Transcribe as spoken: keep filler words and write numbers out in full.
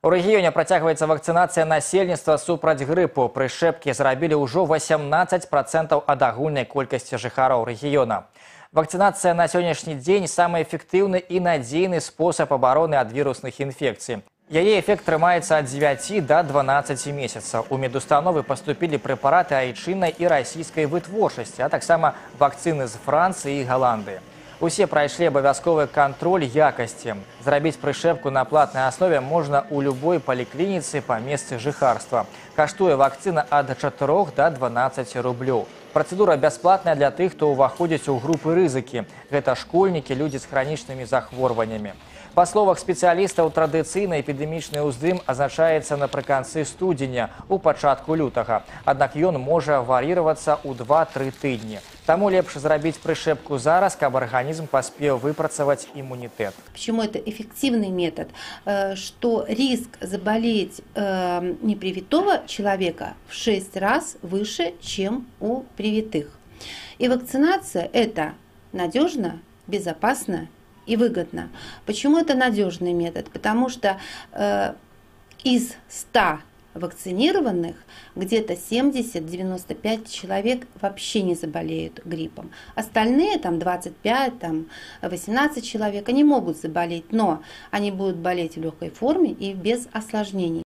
У рэгіёне працягваецца вакцынацыя насельніцтва супраць грыпу. Прышчэпкі зрабілі ўжо васямнаццаць працэнтаў ад агульнай колькасці жыхароў рэгіёна. Вакцынацыя на сённяшні дзень самы эфектыўны і надзейны спосаб абароны ад вірусных інфекцый. Яе эфект трымаецца ад дзевяці да дванаццаці месяцаў. У медустановы паступілі прэпараты айчыннай і расійскай вытворчасці, а таксама вакцыны з Францыі і Галандыі. Усе прайшлі абавязковы кантроль якасці. Зрабіць прышчэпку на платнай аснове можна ў любой паліклініцы па месцы жыхарства. Каштуе вакцына ад чатырох да дванаццаці рублёў. Працэдура бясплатная для тых, хто ўваходзіць у групы рызыкі. Гэта школьнікі, людзі з хранічнымі захворваннямі. Па словах спецыялістаў, традыцыйны эпідэмічны ўздым азначаецца напрыканцы студзеня, у пачатку лютага. Аднак ён можа вар'іравацца ў два-тры тыдні. Таму лепш зрабіць прышчэпку зараз, каб арганізм паспеў выпрацаваць иммунитет. Почему это эффективный метод? Что риск заболеть непривитого человека в шесть раз выше, чем у привитых. И вакцинация это надежно, безопасно и выгодно. Почему это надежный метод? Потому что э, из ста вакцинированных где-то семьдесят-девяносто пять человек вообще не заболеют гриппом. Остальные, там двадцать пять, там восемнадцать человек, они могут заболеть, но они будут болеть в легкой форме и без осложнений.